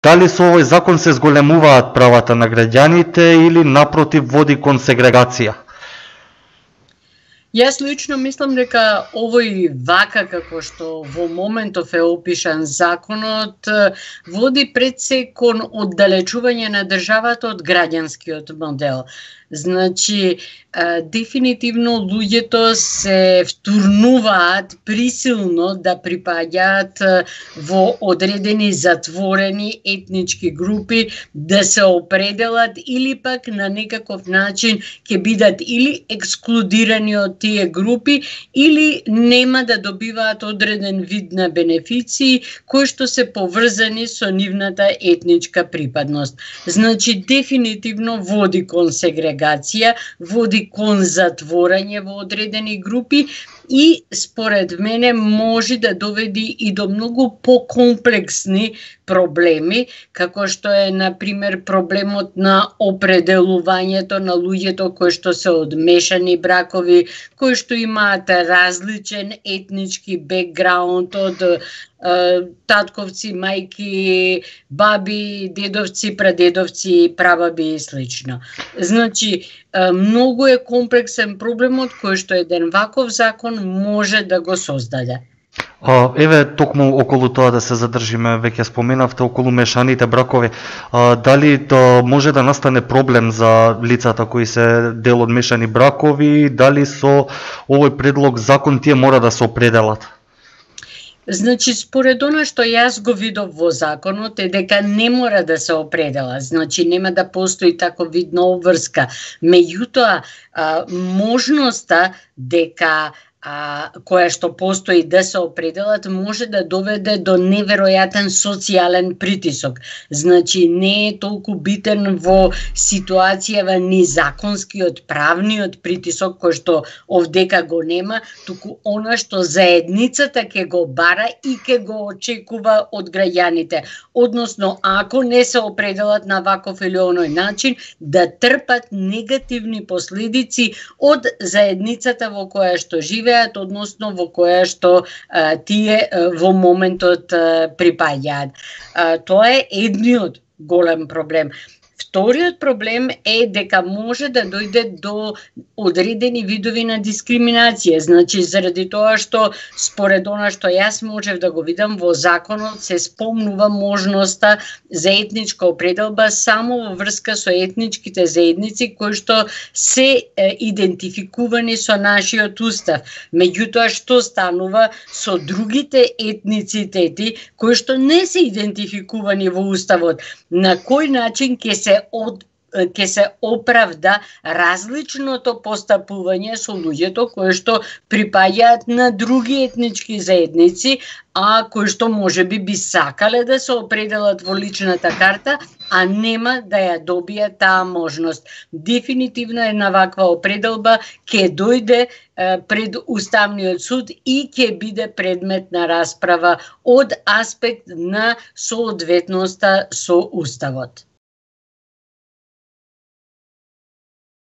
Дали со овој закон се зголемуваат правата на граѓаните или напротив води кон сегрегација? Јас лично мислам дека овој вака како што во моментов е опишан законот води пред се кон оддалечување на државата од граѓанскиот модел. Значи, дефинитивно луѓето се втурнуваат присилно да припаѓаат во одредени затворени етнички групи, да се определат или пак на некаков начин ќе бидат или ексклудирани од тие групи или нема да добиваат одреден вид на бенефиции кои што се поврзани со нивната етничка припадност. Значи, дефинитивно води кон сегрегација, води кон затворање во одредени групи и според мене може да доведи и до многу покомплексни проблеми, како што е, например, проблемот на определувањето на луѓето кои што се од мешани бракови, кои што имаат различен етнички бекграунд од татковци, мајки, баби, дедовци, прадедовци, прабаби и слично. Значи, многу е комплексен проблемот кој што еден ваков закон може да го создаде. Еве, токму околу тоа да се задржиме, веќе споменавте околу мешаните бракови. Дали може да настане проблем за лицата кои се дел од мешани бракови, дали со овој предлог закон тие мора да се определат? Значи, според она што јас го видов во законот е дека не мора да се определа, значи нема да постои таков вид на обврска. Меѓутоа, можноста дека која што постои да се определат може да доведе до неверојатен социјален притисок. Значи, не е толку битен во ситуацијава ни законскиот, правниот притисок кој што овдека го нема, туку она што заедницата ќе го бара и ќе го очекува од граѓаните. Односно, ако не се определат на ваков или оној начин, да трпат негативни последици од заедницата во која што живеат, односно во која што тие во моментот припаѓаат. Тоа е едниот голем проблем. Вториот проблем е дека може да дојде до одредени видови на дискриминација. Значи, заради тоа што според она што јас можев да го видам во законот се спомнува можноста за етничка определба само во врска со етничките заедници кои што се идентификувани со нашиот устав. Меѓутоа, што станува со другите етницитети кои што не се идентификувани во уставот? На кој начин ќе се оправда различното постапување со луѓето кои што припаѓаат на други етнички заедници, а кои што можеби би сакале да се определат во личната карта, а нема да ја добијат таа можност. Дефинитивно една ваква определба ќе дојде пред Уставниот суд и ќе биде предмет на расправа од аспект на соодветноста со Уставот.